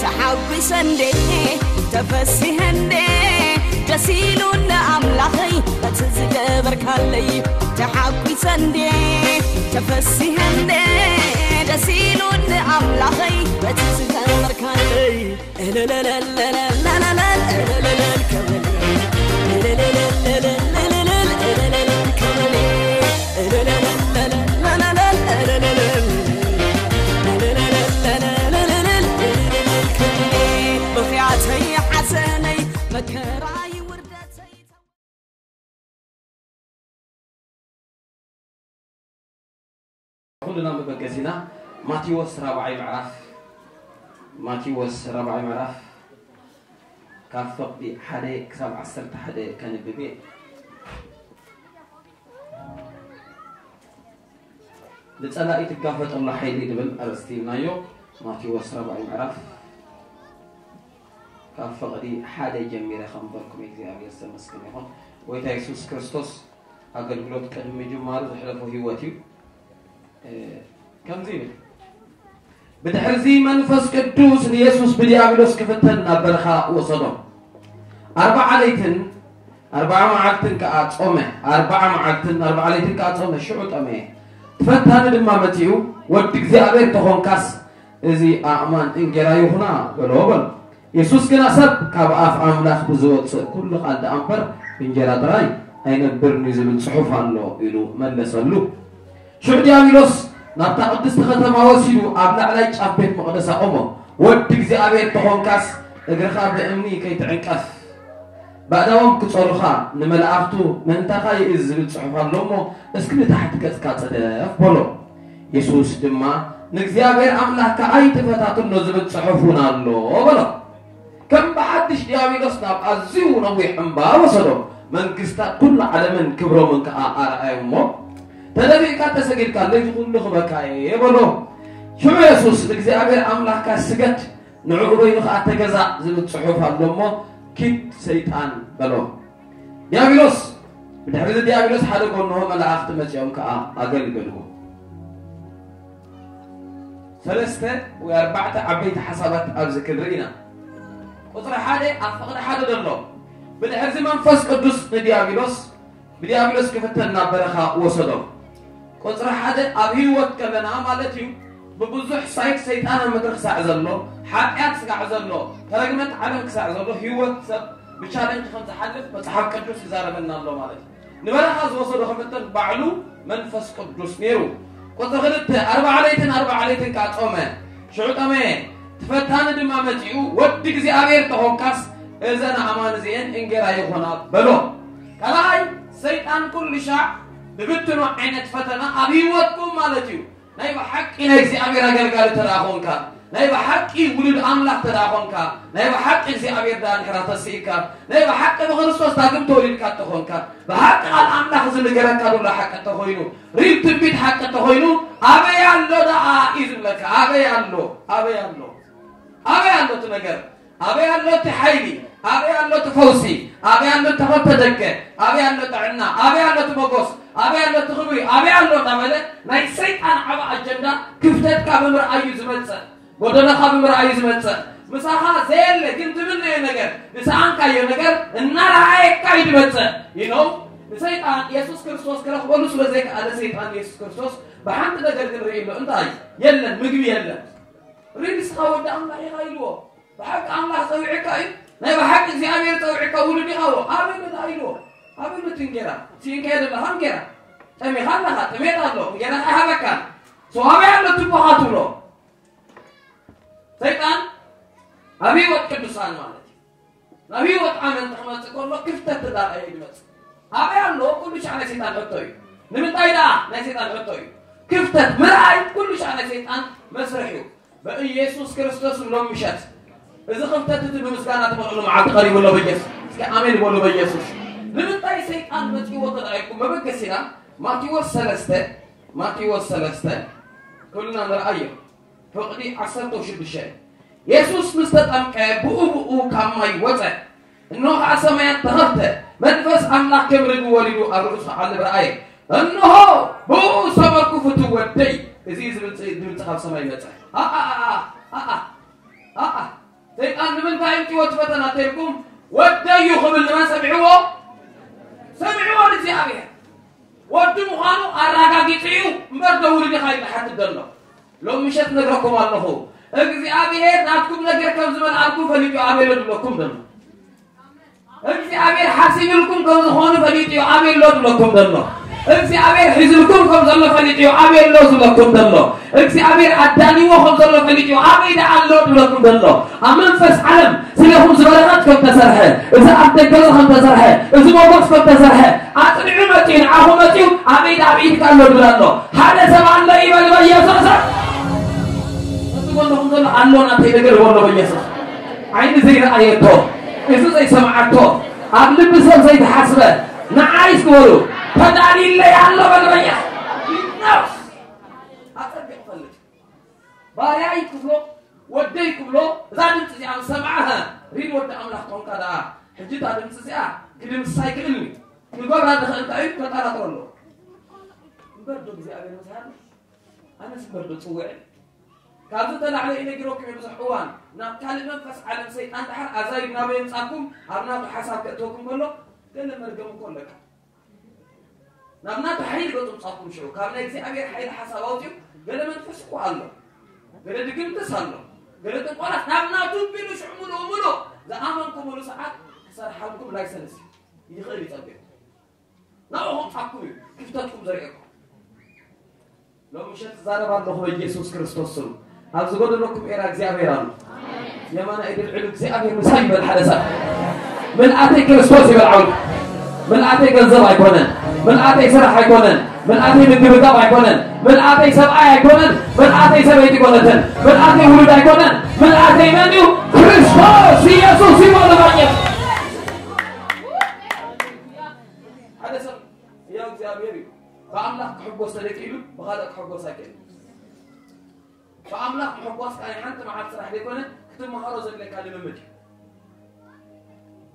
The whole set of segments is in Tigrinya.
ተሓጒሰ እንዴ፣ ተፈሲሐ እንዴ፣ ደስ ኢሉኒ ኣምላኸይ በቲ ዝገበርካለይ። ተሓጒሰ እንዴ፣ ተፈሲሐ እንዴ፣ ደስ ኢሉኒ ኣምላኸይ በቲ ዝገበርካለይ። ብኽያተይ ሓዘነይ መከራይ ውርደተይ ኩልና መበገሲና ማቴዎስ ራብዓይ ምዕራፍ፣ ማቴዎስ ራብዓይ ምዕራፍ ካብ ፈቕዲ ሓደ ክሳብ ዓሰርተ ሓደ ከንብብ እየ። ንጸላኢ ትጋፈጠሉ ሓይሊ ዝብል ኣርእስቲ ኢልናዮ። ማቴዎስ ራብዓይ ምዕራፍ ካብ ፈቕዲ ሓደ ጀሚረ ከንበልኩም እግዚኣብሔር ዝተመስገነ ይኹን። ጎይታ የሱስ ክርስቶስ ኣገልግሎት ቅድሚ ምጅማሩ ዘሕለፎ ህይወት እዩ። እ፣ ከምዚ ይብል። ብድሕርዚ መንፈስ ቅዱስ ንየሱስ ብዲያብሎስ ክፍተን ናብ በረኻ ወሰዶ። ኣርባዓ ለይትን ኣርባዓ መዓልትን ከኣ ጾመ። ኣርባዓ መዓልትን ኣርባዓ ለይትን ከኣ ጾመ፣ ሽዑ ጠመየ። ትፈታኒ ድማ መጺኡ፣ "ወዲ እግዚኣብሔር ተኾንካስ፣ እዚ ኣእማን እንጌራ ይኹና" በሎ፣ በሎ። የሱስ ግና፣ "ሰብ ካብ ኣፍ ኣምላኽ ብዝወጽእ ኩሉ ቃል ደኣ እምበር ብእንጌራ ጥራይ ኣይነብርን እዩ ዝብል ጽሑፍ ኣሎ" ኢሉ መለሰሉ። ሽዑ ዲያብሎስ ናብታ ቅድስቲ ከተማ ወሲዱ ኣብ ላዕላይ ጫፍ ቤት መቕደስ ኣቖሞ። "ወዲ እግዚኣብሔር ተኾንካስ፣ እግርኻ ብእምኒ ከይትዕንቀፍ። ባእዳዎም ክጸሩኻ ንመላእኽቱ ምእንታኻ ይእዝ ዝብል ጽሑፍ ኣሎ እሞ፣ እስኪ ንታሕቲ ገጽካ ጽደፍ" በሎ። የሱስ ድማ፣ "ንእግዚኣብሔር ኣምላኽካ ኣይትፈታትኖ ዝብል ጽሑፍ እውን ኣሎ" በሎ። ከም ብሓድሽ ዲያብሎስ ናብ ኣዝዩ ነዊሕ እምባ ወሰዶ። መንግስታት ኩሉ ዓለምን ክብሮምን ከኣ ኣርኣዮ እሞ፣ "ተደፊእካ ተሰጊድካለይ፣ እዚ ኩሉ ክበካ እየ" በሎ። ሽዑ የሱስ፣ "ንእግዚኣብሔር ኣምላኽካ ስገድ፣ ንዕኡ በይኑ ከኣ ተገዛእ ዝብል ጽሑፍ ኣሎ እሞ፣ ኪድ ሰይጣን" በሎ። ዲያብሎስ፣ ብድሕሪ እዚ ዲያብሎስ ሓደ ጎንሆ መላእኽቲ መጺኦም ከኣ ኣገልገልዎ። ሰለስተ ወይ ኣርባዕተ ዓበይቲ ሓሳባት ኣብዚ ክንርኢ ኢና። ቁጽሪ ሓደ ኣብ ፍቕዲ ሓደ ዘሎ። ብድሕርዚ መንፈስ ቅዱስ ንዲያብሎስ፣ ብዲያብሎስ ክፍተን ናብ በረኻ ወሰዶ። ቁጽሪ ሓደ ኣብ ህይወት ከለና ማለት እዩ። ብብዙሕ ሳይድ ሰይጣን ኣብ ምድሪ ክሳዕ ዘሎ፣ ሓጢኣት ክሳዕ ዘሎ፣ ተረግመት ዓለም ክሳዕ ዘሎ፣ ህይወት ሰብ ብቻለንጅ ከም ዝሓልፍ መጽሓፍ ቅዱስ ይዛረበና ኣሎ ማለት እዩ። ንበረኻ ዝወሰዶ ክፍተን ባዕሉ መንፈስ ቅዱስ ነይሩ። ቁጽሪ ክልተ፣ ኣርባዓ ለይትን ኣርባዓ ለይትን ከኣ ጾመ። ሽዑ ጠመየ። ትፈታኒ ድማ መጺኡ፣ "ወዲ እግዚኣብሔር ተኾንካስ፣ እዘን ኣእማን እዚኤን እንጌራ ይኾና" በሎ። ካልኣይ፣ ሰይጣን ኩሉ ሻዕ ብብትኖ ዓይነት ፈተና ኣብ ህይወትኩም ማለት እዩ። ናይ ብሓቂ ናይ እግዚኣብሔር ኣገልጋሊ ተደኣ ኾንካ፣ ናይ ብሓቂ ውሉድ ኣምላኽ ተደኣ ኾንካ፣ ናይ ብሓቂ እግዚኣብሔር ደኣ እንድሕራ ተስኢካ፣ ናይ ብሓቂ ብክርስቶስ ዳግም ተወሊድካ እንተኾንካ፣ ብሓቂ ቃል ኣምላኽ ዝንገረካ ዘሎ ሓቂ እንተኾይኑ፣ ሪል ትንቢት ሓቂ እንተኾይኑ፣ ኣበይ ኣሎ ደኣ እዩ ዝብለካ? ኣበይ ኣሎ? ኣበይ ኣሎ? ኣበይ ኣሎ እቲ ነገር? ኣበይ ኣሎ እቲ ሓይሊ? ኣበይ ኣሎ እቲ ፈውሲ? ኣበይ ኣሎ እቲ ተኸፍተ ደገ? ኣበይ ኣሎ ጥዕና? ኣበይ ኣሎ እቲ መጎስ? ኣበይ ኣሎ እቲ ክብሪ? ኣበይ ኣሎ እናበለ ናይ ሰይጣን ዓቢ ኣጀንዳ ክፍተትካ ብምርኣይ እዩ ዝመጽእ። ጎደሎኻ ብምርኣይ እዩ ዝመጽእ። ምሳኻ ዘየለ ግን ትምነዮ ነገር፣ ዝሰኣንካዮ ነገር እናረኣየካ እዩ ዝመጽእ። You know፣ ንሰይጣን የሱስ ክርስቶስ ክረኽበሉ ስለ ዘይከኣለ ሰይጣን የሱስ ክርስቶስ ብሓንቲ ነገር ግን ርእዩ ኣሎ። እንታይ? የለን፣ ምግቢ የለን። ሪል ንስኻ ወዲ ኣምላኽ ኢኻ ኢልዎ። ብሓቂ ኣምላኽ ጸዊዕካ እዩ። ናይ ብሓቂ እግዚኣብሔር ጸዊዕካ ውሉድ ኢኻ። ኣበይ ነታ ኢልዎ? ኣበይ ነቲ እንጌራ? ስኢንካዮ ዘለኻ እንጌራ። ጠሚኻ ኣለኻ፣ ጥሜት ኣሎ። እንጌራ ኣይሃበካን። So ኣበይ ኣሎ ትቦኻ ትብሎ? ሰይጣን ኣብ ህይወት ቅዱሳን ማለት እዩ። ናብ ህይወት ኣመንቲ ክመጽእ ከሎ ክፍተት ተዳርኣዮ ይመጽእ። ኣበይ ኣሎ? ኩሉ ሻዕ ናይ ሰይጣን ሕቶ እዩ። ንምንታይ ደኣ ናይ ሰይጣን ሕቶ እዩ? ክፍተት ምርኣይ ኩሉ ሻዕ ናይ ሰይጣን መስርሕ እዩ። በኢየሱስ ክርስቶስ ሎም ምሸት እዚ ክፍተት እዚ ብምስጋና ትመልእሉ መዓልቲ ቀሪቡ ኣሎ በኢየሱስ። እስኪ ኣሜን በሉ በኢየሱስ። ንምንታይ ሰይጣን መጺእዎ ተደኣይኩም መበገሲና ማቴዎስ ሰለስተ፣ ማቴዎስ ሰለስተ ኩልና ንርኣዮ። ፍቕዲ ዓሰርተ ሽዱሽተ የሱስ ምስ ተጠምቀ ብኡ ብኡ ካብ ማይ ወጸ። እንሆ ኸዓ ሰማያት ተኸፍተ፣ መንፈስ ኣምላኽ ከም ርግቢ ወሪዱ ኣብ ርእሱ ዓለበ ኣየ። እንሆ ብኡ ዝሰመርኩ ፍቱው ወደይ፣ እዚ እዩ ዝብል ድምፂ ካብ ሰማይ መጸ። ኣኣ ኣኣ ኣኣ ኣኣ ሰይጣን ንምንታይ እምፅዎ እቲ ፈተና ተልኩም ወደዩ ክብል ንመን ሰሚዕዎ? ሰሚዕዎ ንእግዚኣብሔር። ወዲ ምዃኑ ኣረጋጊጹ እዩ እምበር ደውሉ ዲኻ ኢሉ ሓትት ዘሎ። ሎም ምሸት ነግረኩም ኣለኹ፣ እግዚኣብሔር ናትኩም ነገር ከም ዝመልኣልኩም ፈሊጡ ኣበሎ ድብለኩም ዘሎ። እግዚኣብሔር ሓሲብልኩም ከም ዝኾኑ ፈሊጡ እዩ ኣበሎ ድብለኩም ዘሎ። እግዚኣብሔር ሒዝልኩም ከም ዘሎ ፈሊጡ እዩ ኣበሎ ዝብለኩም ዘሎ። እግዚኣብሔር ኣዳልዎ ከም ዘሎ ፈሊጡ እዩ ኣበይ ደኣ ኣሎ ድብለኩም ዘሎ። ኣብ መንፈስ ዓለም ስለኹም ዝበረኸት ከም ተሰርሐ፣ እዚ ኣብ ደገ ከም ተሰርሐ፣ እዚ ሞገስ ከም ተሰርሐ ኣጽኒዑ መጺኡ ንዓኹም መጺኡ ኣበይ ደኣ ኣብ ኢድካ ኣሎ ድብል ኣሎ። ሓደ ሰብ ኣሎ ይበል በኢየሱስ። እዚ ጎንኹም ዘሎ ኣሎ ናተይ ነገር በሎ በኢየሱስ። ዓይኒ ዘይረኣየቶ፣ እዚ ዘይሰምዓቶ፣ ኣብ ልቢ ሰብ ዘይተሓስበ ንዓይ እስኪ በሉ ተዳልይለይ ኣሎ በል በኢየሱስ። ኣጸቢቑ ፈልጥ። ባርያይ ክብሎ፣ ወደይ ክብሎ፣ እዛ ድምፂ እዚኣ ምስ ሰምዓ፣ ሪል ወዲ ኣምላኽ ኮንካ ደኣ፣ ሕጂ እታ ድምፂ እዚኣ ክድምስሳ ይክእልኒ። ክገብራ ዝኽእል እንታይ እዩ? ከጠራጥሮ ኣለዎ። እምበር ዶ እግዚኣብሔር ምሳና? ኣነስ እምበር ዶ ጽውዕ? ካብዚ ተላዕለ ኢለ ነጊረኩም እየ ብዙሕ እዋን። ናብ ካልእ መንፈስ ዓለም ሰይጣን ደሓር ኣዛይድ ናበይ የምጻኩም፣ ኣብ ናቱ ሓሳብ ከእትወኩም ከሎ፣ ገለ መርገም እኮ ኣለካ። ናብ ናቱ ሓይሊ ገጹ ምጻኩም ሽዑ፣ ካብ ናይ እግዚኣብሔር ሓይሊ ሓሳብ ኣውጺኡ፣ ገለ መንፈስ እኮ ኣሎ። ገለ ድግምትስ ኣሎ። ገለ ጥንቆላት ናብ ናቱ ቢሉ ሽዑ ምሉእ ምሉእ ዝኣመንኩምሉ ሰዓት ክሰርሓልኩም ላይሰንስ እዩ። ይኽእል ይጸብቕ። ናብኡ ከምጻኩም እዩ ክፍተትኩም ዘርእየኩም። ሎም ምሸት ትዛረብ ኣለኹ በኢየሱስ ክርስቶስ ስም። ኣብ ዝጎደለኩም ኤራ እግዚኣብሔር ኣሎ። የማና ኢድ ልዕሉ እግዚኣብሔር ምሳይ ይበል ሓደ ሰብ። ምልኣተይ ክርስቶስ ይበል ዓውድ። ምልኣተይ ገንዘብ ኣይኮነን። ምልኣተይ ስራሕ ኣይኮነን። ምልኣተይ ምግብጋብ ኣይኮነን። ምልኣተይ ሰብኣይ ኣይኮነን። ምልኣተይ ሰበይቲ ኣይኮነትን። ምልኣተይ ውሉድ ኣይኮነን። ምልኣተይ መን እዩ? ክርስቶስ ኢየሱስ ይበል ባኘት። ሓደ ሰብ ያው እግዚኣብሔር እዩ። ብኣምላኽ ክሕጎስ ተደቂሉ ብኻልእ ክሕጎስ ኣይክእልን። ብኣምላኽ ምሕጓስ ከኣ ናይ ሓንቲ መዓልቲ ስራሕ ዘይኮነ ክትመሃሮ ዘድልየካ ልምምድ እዩ።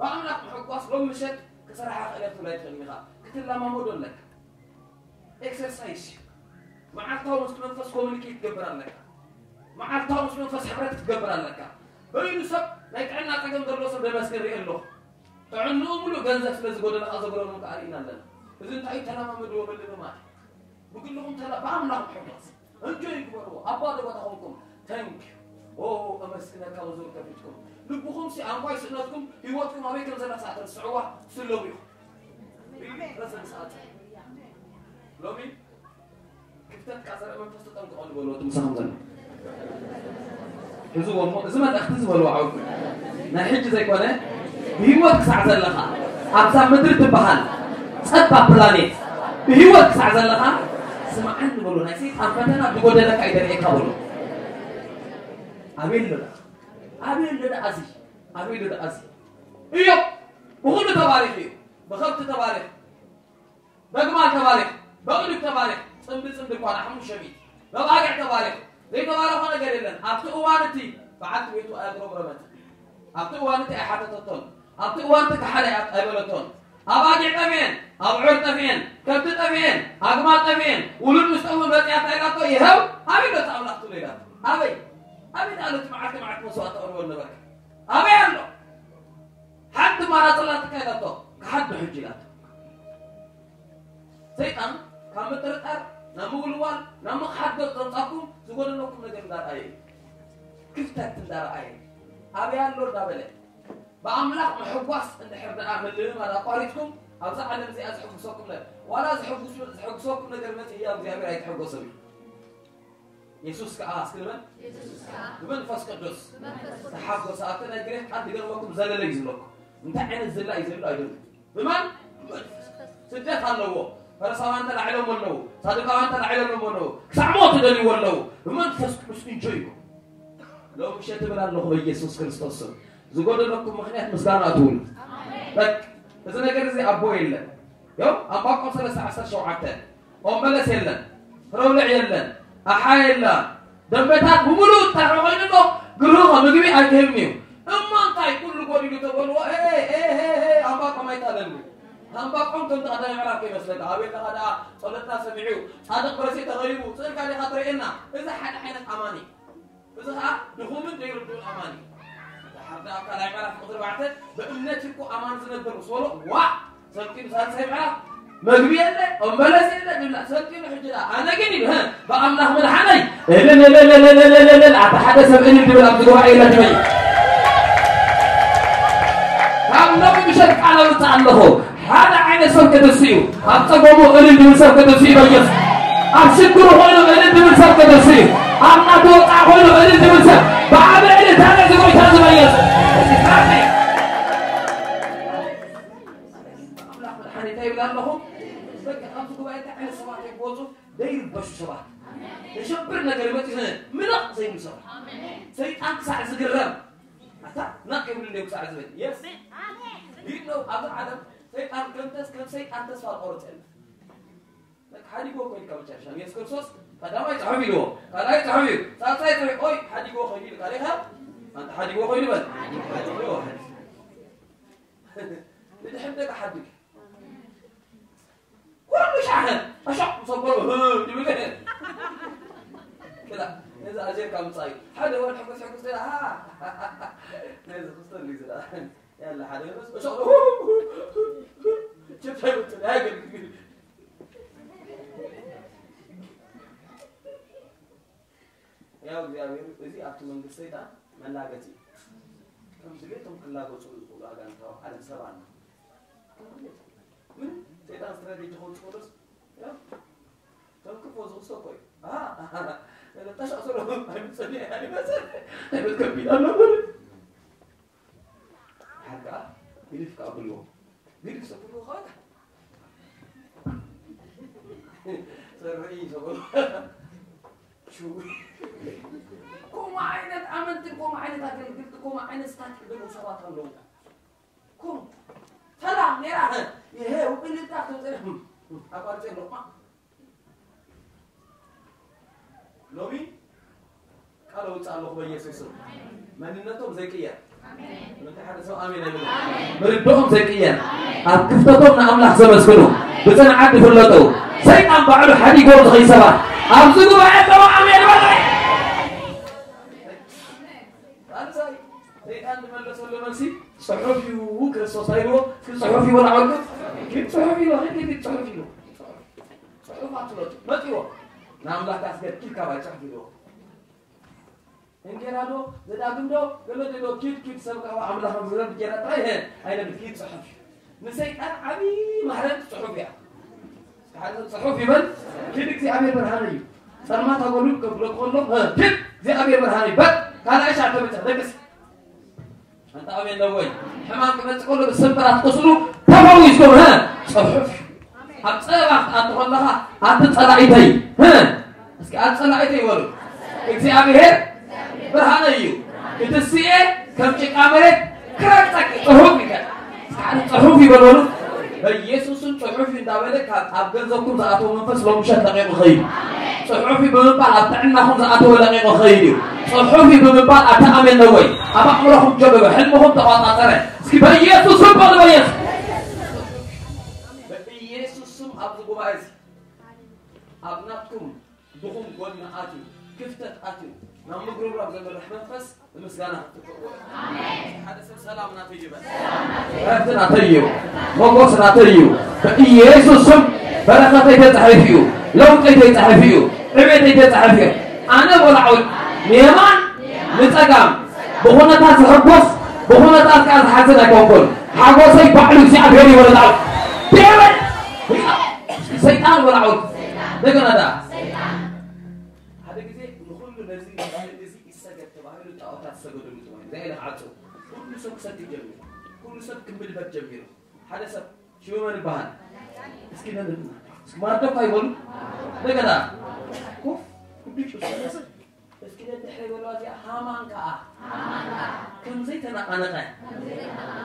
ብኣምላኽ ምሕጓስ ሎም ምሸት ክሰርሓ ክእለት ትብላ ኣይትኽእልን ኢኻ። ክትለማመዶ ኣለካ። ኤክሰርሳይስ እዩ። መዓልታዊ ምስ መንፈስ ኮሚኒኬት ትገብር ኣለካ። መዓልታዊ ምስ መንፈስ ሕብረት ክትገብር ኣለካ። በይኑ ሰብ ናይ ጥዕና ጸገም ዘለዎ ሰብ ደመስግን ርኢ ኣለኹ። ጥዕንኡ ሙሉእ ገንዘብ ስለ ዝጎደለ ከኣ ዘጉደሎም ከኣ ርኢና ኣለና። እዚ እንታይ እዩ? ተለማመድዎ ምልምማድ። ብግልኹም ተላ ብኣምላኽ ምሕጓስ እንጆይ ግበርዎ። ኣብ ባዶ ቦታ ኾንኩም ተንክ ዩ ኦ እመስግነካ ብዙር ከፊትኩም ልብኹም ሲ ኣንኳይ ስእነትኩም ህይወትኩም ኣበይ ከም ዘላ ሰዓት ርስዕዋ ስለቡ ኢኹም። ረሰብ ሰዓት ሎሚ ክፍተት ቃ ዘርኢ መንፈስ ተጠንቀቐሉ በልዎ እቲ ምሳኹም ዘሎ። ሕዝዎ እሞ እዚ መልእኽቲ ዝበልዎ ዓውዱ ናይ ሕጂ ዘይኮነ ብህይወት ክሳዕ ዘለኻ ኣብዛ ምድሪ ትበሃል ጸባ ፕላኔት ብህይወት ክሳዕ ዘለኻ ስምዓኒ በሎ ናይ ሰይጣን ፈተና ብጎደለካ ይደርኤካ በሎ። ኣቤል ሎዳ ኣቤል ሎዳ ኣዚ ኣቤል ሎዳ ኣዚ እዮ ብኹሉ ተባሪኽ እዩ። ብኸብቲ ተባሪኽ በግማል ተባሪኽ በቕልብ ተባሪኽ ጽምዲ ጽምዲ እኳ ንሓሙሽተ ሚእቲ በባጊዕ ተባሪኽ ዘይተባረኸ ነገር የለን። ኣብቲ እዋን እቲ በዓልቲ ቤቱ ኣየጉረምረመትን። ኣብቲ እዋን እቲ ኣይሓተተቶን። ኣብቲ እዋን እቲ ከሓደ ኣይበለቶን። ኣባጊዕ ጠፊኤን፣ ኣብዑር ጠፊኤን፣ ከብቲ ጠፊኤን፣ ኣግማል ጠፊኤን፣ ውሉድ ምስ ጠፍኡ መጺኣ እንታይ ኢላቶ? ይኸው ኣበይ ኣሎ እቲ ኣምላኽ ትብሎ ኢላቶ። ኣበይ ኣበይ ደኣ ኣሎ እቲ መዓልቲ መዓልቲ መስዋእቲ ተቕርበሉ ነበርካ? ኣበይ ኣሎ? ሓንቲ ማራ ጽላት እካ ኢላቶ። ክሓዶ ሕጂ ኢላቶ። ሰይጣን ካብ ምጥርጣር ናብ ምውልዋል ናብ ምኽሓድ ገጽ ዘምጻኩም ዝጎደለኩም ነገር እንዳረኣየ እዩ። ክፍተት እንዳረኣየ ኣበይ ኣሎ እንዳበለ ብኣምላኽ ምሕጓስ እንድሕር ደኣ ምልምማድ ኣቋሪጽኩም ኣብዛ ዓለም እዚኣ ዝሕጉሰኩም ነገር ዋላ ዝሕጉስ- ዝሕጉሰኩም ነገር መጽእ ህያው እግዚኣብሔር ኣይትሕጎስም እዩ። የሱስ ከኣ እስክንበል የሱስ ከኣ ብመንፈስ ቅዱስ ብመንፈስ ቅዱስ ተሓጎሰ። ኣብቲ ናይ ግሪክ ቃል ድገርመኩም ዘለለ እዩ ዝብለኩም። እንታይ ዓይነት ዝላ እዩ ዘሎ ኣይደለም። ብመን? ብመንፈስ ቅዱስ። ስደት ኣለዎ። ፈሪሳውያን ተላዒሎም ኣለዉ። ሳዱቃውያን ተላዒሎም ኣለዉ። ክሳዕ ሞት ይደልይዎ ኣለዉ። ብመንፈስ ቅዱስ እንጆይ ይኹን። ሎም ምሸት እብል ኣለኹ በኢየሱስ ክርስቶስ ስም። ዝጎደለኩም ምኽንያት ምስጋና ኣትውሉ። በቃ እዚ ነገር እዚ ኣቦ የለን። ዮም ኣንባቆም ሰለስተ ዓሰርተ ሸውዓተ ኦም በለስ የለን፣ ፍረውልዕ የለን፣ ኣሓ የላ፣ ደንበታት ብምሉእ ተርሑ ኮይኑ ኣሎ። ክልእኾ ምግቢ ኣይክህብን እዩ። እሞ እንታይ ኩሉ ጎዲሉ ተበልዎ? ኤ፣ ኤ፣ ኤ፣ ኤ፣ ኣንባቆም ኣይታለልኒ። ኣንባቆም ከምቲ ቀዳማይ ምዕራፍ ከይመስለካ። ኣቤል ደኣ ደኣ ጸሎትና ሰሚዑ፣ ጻድቕ በለስ ተኸይቡ፣ ስእልካ ዲኻ ትርእየና? እዚ ሓደ ዓይነት ኣማኒ። እዚ ኸኣ ድኹምን ዘይርድኡን ኣማኒ። ደሓር ደኣ ኣብ ካልኣይ ምዕራፍ ቁጽሪ ኣርባዕተ፣ ብእምነት እኮ ኣማኒ ዝነብር ምስ በሎ፣ ዋእ! ሰልኪኑ ሳልሳይ ምዕራፍ መግቢ የለ፣ እምበለስ የለ፣ ድብላ ሰልኪኑ ሕጂ ደኣ፣ ኣነ ግን ኢሉ፣ ህ፣ ብኣምላኽ ምድሓነይ፣ እልልልልልልልልል፣ ኣታ ሓደ ሰብ እልል ድብል ኣብዚ ጉባኤ የለን ትበይ። ካብ ሎሚ ምሸት ቃል ኣውፅእ ኣለኹ። ሓደ ዓይነት ሰብ ክትስኡ፣ ኣብ ጸገሙ እልል ድብል ሰብ ክትስኡ በየሱስ። ኣብ ሽግሩ ኮይኑ እልል ድብል ሰብ ክትስኡ፣ ኣብ ናቱ ወጣ ኮይኑ እልል ድብል ሰብ፣ ብዓቢ እልልታ ነዚ ጎይታ ዝበየስ። እዚ ስራሕ እዩ። ኣምላኽ መድሓኒት ይብል ኣለኹ። በቃ ኣብዚ ጉባኤ እንታይ ዓይነት ሰባት እዮም ክወፁ? ዘይርበሹ ሰባት። ዘሸብር ነገር መፂኡ ምልቕ ዘይብሉ ሰባት። ሰይጣን ክሳዕ ዝግረም። ኣታ ናቕ የብሉ እንዲዮም ክሳዕ ዝበል። የስ። ይህ ነው ኣብዚ ዓለም ሰይጣን ከም ተስ-፣ ከም ሰይጣን ተስፋ ዝቆረፀ የለን። በቃ ሓዲጎ እኮ ኢልካ መጨረሻ። ኢየሱስ ክርስቶስ ቀዳማይ ጽሑፍ ኢልዎ፣ ካልኣይ ጽሑፍ ኢሉ፣ ሳልሳይ ጽሑፍ፣ ኦይ፣ ሓዲጎ ኸይዱ ኢልካ ዲኻ? ኣንታ ሓዲጎ ኸይዱ በል። ሓዲጎ ኸይዱ። ንድሕር ደቂ ሓድግ። ኩሉ ሻሕን፣ ኣሻቕ ሰበሩ፣ ህ፣ ይብል። ክላ፣ ነዚ ኣዜርካ ምጻእ እዩ። ሓደ ወድ ሕጉስ ሕጉስ ኢላ፣ ሃ፣ ነዚ ክስተሉ እዩ ዝላ። ያለ ሓደ ወድ፣ ኣሻቕ፣ ችፕ ኣይውጥን፣ ኣያገልግል። ያው እግዚኣብሔር እዚ ኣብቲ መንግስቲ ሰይጣን መላገጺ እዩ። ከም ድሌቶም ክላገጹሉ ዝኽእሉ ኣጋንንታዊ ዓለም ሰብ ኣሎ። ከም ድሌቶም። ምን ሰይጣን ስትራቴጂ ከውጽእሉስ፣ ያው፣ ከም ክፎ ዝኽሶ እኮ እዩ። ኣሃ፣ ኣሃ፣ ጠሻ ስሎ፣ ኣይምጸኒ፣ ኣይመጸ፣ ኣይመልከም ቢል ኣሎ። ሓቃ ግድፍ ከኣ ብልዎ። ግድፍ ሰብልዎ ከኣ ሰርዒ ሰብልዎ። ሽው። ከምኡ ዓይነት ኣመንትን ከምኡ ዓይነት ኣገልግልቲ፣ ከምኡ ዓይነት ስታትል ዘለዉ ሰባት ኣለዉ። ከምኡ ሰላም ኔራ፣ ይሄ ውቅልታ ተውፅእ፣ ኣቋርፀ ኣለኹ። ሎሚ ቃል ኣውፅእ ኣለኹ በኢየሱስ ስም። መንነቶም ዘይቅየር። ምንታይ ሓደ ሰብ ኣሜን ኣይብልን? ምርድኦም ዘይቅየር። ኣብ ክፍተቶም ንኣምላኽ ዘመስግኑ፣ ብጽንዓት ዝፍለጡ፣ ሰይጣን ባዕሉ ሓዲጎም ዝኸዩ ሰባት ኣብዚ ጉባኤ ኣለዉ። ኣሜን በሉ። ሳልሳይ፣ ሰይጣን ዝመለሰሉ መልሲ ጽሑፍ እዩ። ክርስቶስ ኣይብሎ፣ እስኪ ጽሑፍ እዩ በሉ ዓወልኩ። ግን ጽሑፍ እዩ፣ ግን ጽሑፍ እዩ። ጽሑፍ ኣትፍለጡ። መጺዎ። ንኣምላኽ ኣስገድ ኢልካ ባይ ጽሑፍ እዩ። እንጌራ ዶ፣ ዘዳግም ዶ፣ ገለ ዶ፣ ኪድ፣ ኪድ፣ ሰብ ካብ ኣምላኽ ዝረብ እንጌራ ጥራይ፣ ሄ፣ ኣይነብል፣ ኪድ ጽሑፍ እዩ። ንሰይጣን ዓቢ ማህረምቲ ጽሑፍ እያ። ሓደ ሰብ ጽሑፍ ይበል፣ ኪድ እግዚኣብሔር ብርሃነ እዩ። ጸልማት ኣጎሉ ከብሎ ከሎ፣ ኪድ እግዚኣብሔር ብርሃነ እዩ። በል፣ ካልኣይ ሻዕ ተመጸ፣ ደቅስ። ኣንታ ኣሜን ነው ወይ? ሕማም ክመጽእ ከሎ ብስምብራት ቁስሉ ተፈዊስኩም፣ ሀ? ጽሑፍ። ኣብ ጸባ ክትኣቱ ከለኻ፣ ኣቲ ጸላኢተይ፣ ሀ? እስኪ ኣቲ ጸላኢተይ በሉ። እግዚኣብሔር ብርሃነይ እዩ። ክትስኤ ከም ጭቃ መሬት ክረግጸኪ ጽሑፍ ይከ-፣ እስኪ ኣቲ ጽሑፍ ይበል በሉ። በኢየሱስም ጽሑፍ እዩ እንዳበለ ካብ ኣብ ገንዘብኩም ዝኣተወ መንፈስ ሎም ምሸት ለቂቑ ኸይዱ። ጽሑፍ እዩ ብምባል ኣብ ጥዕናኹም ዝኣተወ ለቂቑ ኸይዱ እዩ። ጽሑፍ እዩ ብምባል ኣቲ ኣሜን ነው ወይ? ኣብ ኣእምሮኹም ጀበበ፣ ሕልምኹም ተቋጻጸረ። እስኪ በኢየሱስ ስም በሉ፣ በኢየሱስ። በኢየሱስ ስም ኣብዚ ጉባኤ እዚ ኣብ ናትኩም ድኹም ጎኒ ኣትዩ፣ ክፍተት ኣትዩ፣ ናብ ምጉርምራም ዘምርሕ መንፈስ ብምስጋና ክትትክእዎ። ኣሜን። ሓደ ሰብ ሰላም ናተይ ይበል። ዕረፍቲ ናተይ እዩ። ሞጎስ ናተይ እዩ። በኢየሱስ ስም በረኸተይ ተጻሒፉ እዩ። ለውጠይ ተጻሒፉ እዩ። ዕቤተይ ተጻሒፉ እዩ። ኣነ ወላዕል ንየማን ንጸጋም ብኹነታት ዝሕጎስ ብኹነታት ከኣ ዝሓዝን ኣይኮንኩን። ሓጎሰይ ባዕሉ እግዚኣብሔር እዩ። ወላዕል ዴመን ሰይጣን ወላዕል እንደገና ደኣ ሓደ ግዜ ንኹሉ ነዚ ንባህል እዚ ይሰገድ ተባሂሉ ጣዖታት ዝሰገደሉ ዝባን። እግዚኣብሔር ክዓጽው። ኩሉ ሰብ ክሰቲ ጀሚሩ። ኩሉ ሰብ ክምልበት ጀሚሩ። ሓደ ሰብ ሽሙ መን ይበሃል? እስኪ ነን-፣ እስኪ ማርዶካ ይበሉ። እንደገና ኮፍ፣ ኩሉ ጭሱ ሰብ እስኪ ነድሕሪ በለዋ እዚኣ ሃማን ከኣ ከምዘይ ተነቃነቀ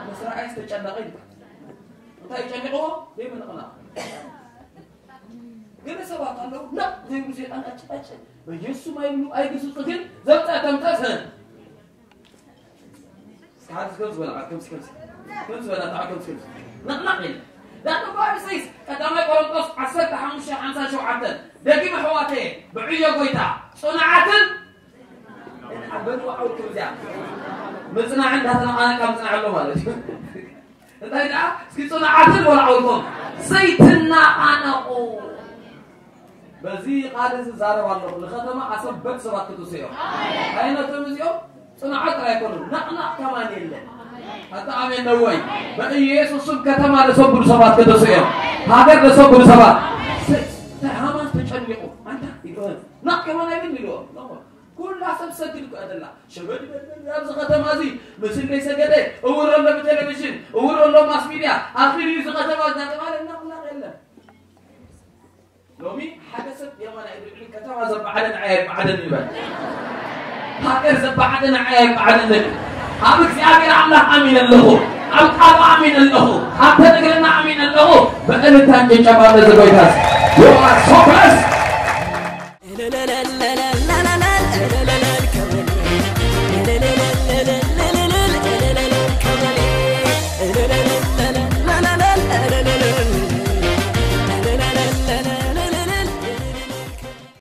ምስ ረኣየ ዝተጨነቀ ይልካ። እንታይ ጨኒቅዎ? ዘይምንቕናቕ። ገለ ሰባት ኣለዉ፣ ነቕ ዘይብሉ ሰይጣን ቀጭ ቀጭ፣ በየሱስ ኣይብሉ፣ ኣይግስጹ፣ ግን ዘምጸ ተምጸ ሰ-፣ እስኪ ሓደ እስከ ዝበላ፣ ከምዚ፣ ከምዚ፣ ከምዚ በላ፣ ተዓ፣ ከምዚ፣ ከምዚ። ነቕነቕ ኢለ። ዳቶ ኳሪስይስ፣ ቀዳማይ ቆሮንቶስ ዓሰርተ ሓሙሽተ ሓምሳ ሸውዓተ። ደጊም ኣሕዋተየ፣ ብዕዮ ጎይታ፣ ጽኑዓትን፣ በሉ ዓውልኩም እዚኣ። ምጽናዕ እንዳተነቓነቃ ምጽናዕ ኣሎ ማለት እዩ። እንታይ ደኣ? እስኪ ጽኑዓትን በሉ ዓውልኩም። ዘይትናቓነቑ። በዚ ቃል እዚ ዛረብ ኣለኹ። ንከተማ ኣሰበት ሰባት ክትስኦም። ኣይነቶም እዚኦም ጽኑዓት ጥራይ ኣይኮኑን። ነቕነቕ ከማን የለን። ኣታ ኣሜን ነው ወይ? በኢየሱስ ስም ከተማ ለሰብሉ ሰባት ክትስኦም። ሃገር ለሰብሉ ሰባት። ስ-፣ እንታይ ሃማስ ተጨኒቑ። ኣንታ ይገበል። ናቕ ከማን ኣይብል ኢልዎ። ኩላ ሰብ ሰግድ እኮ እያ ዘላ። ሸበድ በል በል ኣብዚ ከተማ እዚ ምስለይ ሰገደ፣ እውር ኣሎ ብቴሌቪዥን፣ እውር ኣሎ ማስ ሚድያ፣ ኣኺሉ እዚ ከተማ እናተባለ እናቕናቕ የለን። ሎሚ ሓደ ሰብ የማን ኣይድብልን፣ ከተማ ዘበዓደ ንዓይ ኣይበዓደን ይበል። ሃገር ዘበዓደ ንዓይ ኣይበዓደን። ኣብ እግዚኣብሔር ኣምላኽ ኣሚን ኣለኹ። ኣብ ቃሉ ኣሚን ኣለኹ። ኣብ ተነግረና ኣሚን ኣለኹ። ብእልልታን ጭብጨባን ነዚ ጎይታ። You are so blessed.